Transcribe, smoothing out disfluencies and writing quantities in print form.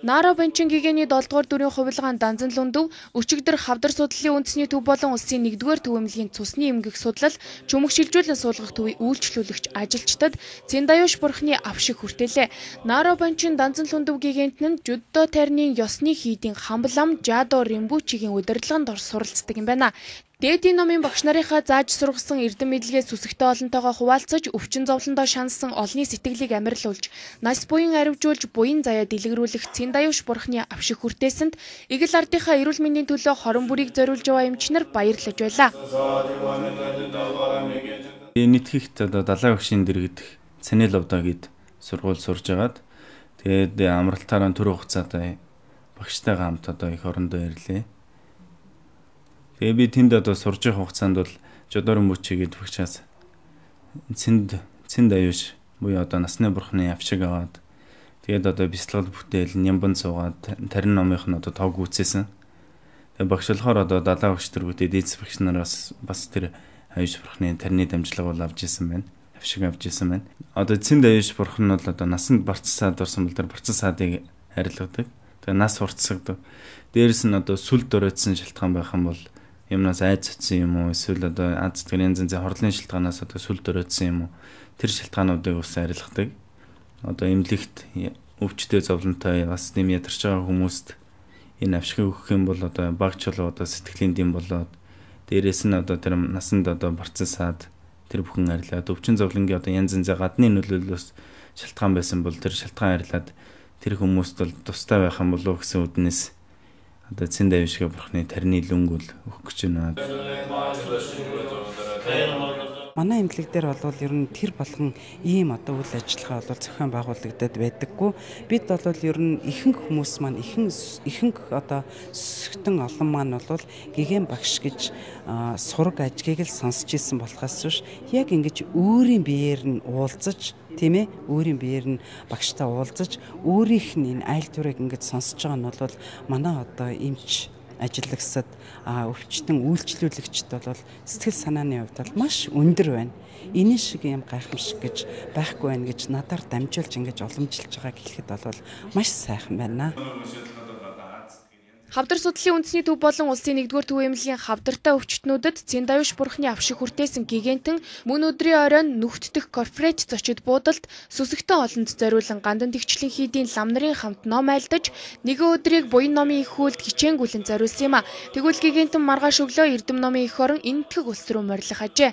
Наара Банчин гигэний 7-р дүрийн хувилгаан Данзан Лундөв өчигдөр хавдар судлалын үндэсний төв болон улсын 1-р төв эмнэлгийн цусны эмгэх судлал чүмэг шилжүүлэн суулгах төвийн үйлчлүүлэгч ажилчдад Цэндаюш бурхны авшиг хүртээлээ. Наара Банчин Данзан Лундөв гигэнт нь Жуддо тайрны ёсны хийдийн хамблам Жадо Римбучигийн удирдлаганд суралцдаг юм байна. Дээдийн номын багш нарынхаа зааж сургасан эрдэм мэдлэгээ сүсэгтэй олонтойгоо хуваалцаж өвчин зовлондоо шаналсан олонний сэтгэлийг амарлуулж, нас буян аривжуулж, буян заяа дэлгэрүүлэх Цэндаюш бурхны авшиг хүртээсэнд эгэл ардынхаа эрүүл мэндийн төлөө хорон бүрийг зориулж яваа эмчнэр баярлаж байлаа. Нийтгэхт далайн багшийн дэргэдэх Цэнэловдоо гээд сургууль сурж агаад тэгээд амралтаараа түр хугацаанд багштайгаа хамт их орондоо ирлээ. Тэгээ би тэнд сурж байгаа хугацаанд бол Жодорон Мөчи гэдэг багшаас Цэндаюш буюу насны бурхны авшиг аваад тэгээд бяцлал бүтээл нямбан суугаад тарин номынх нь тог үүсээсэн. Тэгээ багш болохоор далайн багш тэргүүтээ дээдс багш нараас бас тэр аюуш бурхны тарины дамжлага бол авч исэн байна. Авшиг авч исэн байна. Цэндаюш бурхан нь бол насанд барцсаад орсон бол тэр барцсан саадыг харилгадаг. Тэгээ нас уртсагдаг. Дээрээс нь сүл дөрөөдсөн шалтгаан байх юм бол юмнаас айц цэцэн юм уу эсвэл аз зүтгэн янз янзын хорлын шалтгаанаас сүл дөрөөдсөн юм уу тэр шалтгаануудыг ус арилгадаг. Эмнэлэгт өвчтөе зовлонтой бас нэм ядарч байгаа хүмүүст энэ авшиг өгөх юм бол багч болоо сэтгэлийн дэм болоод дээрээс нь тэр насанд барцсан саад тэр бүхэн арилаад өвчин зовлонгийн янз янзын гадны нөлөөллөөс шалтгаан байсан бол тэр шалтгаан арилаад тэр хүмүүст бол тустай байх юм болов гэсэн үднэс Цэндаюшгийн бурхны тарины лөнгөл өгөх гэж байна. Манай эмнэлэг дээр бол ер нь тэр болгон ийм үйл ажиллагаа бол зохион байгуулагдаад байдаггүй. Бид бол ер нь ихэнх хүмүүс маань ихэнх сүсгтэн олон маань бол гэгэн багш гэж сураг ажгийг л сонсч ирсэн болохоос биш яг ингэж өөрийн биеэр нь уулзаж тийм ээ өөрийн биеэр нь багштай уулзаж өөрийнх нь энэ айл төрийг ингэж сонсож байгаа нь бол манай эмч ажиллагсад өвчтөн үйлчлүүлэгчд бол сэтгэл санааны хувьд бол маш өндөр байна. Энэ шиг юм гайхамшиг гэж байхгүй байна гэж надаар дамжуулж ингэж уламжилж байгааг хэлэхэд бол маш сайхан байна. Хавдар судлалын үндэсний төв болон улсын 1-р төв эмнэлгийн хавдартай өвчтнүүдэд Цэндаюш бурхны авшиг хүртээсэн гигэнтэн мөн өдрийн оройн нүхтдэх корпоратив зочид буудалд сүсэгтэй олонд зориулан гандан тэгчлийн хийдийн лам нарын хамт ном айлдаж нэгэн өдрийг буян номын их хүлд хичээнгүйлэн зориулсан юм а. Тэгвэл гигэнтэн маргааш өглөө эрдэм номын их орон энэтхэг улс руу морилох ажээ.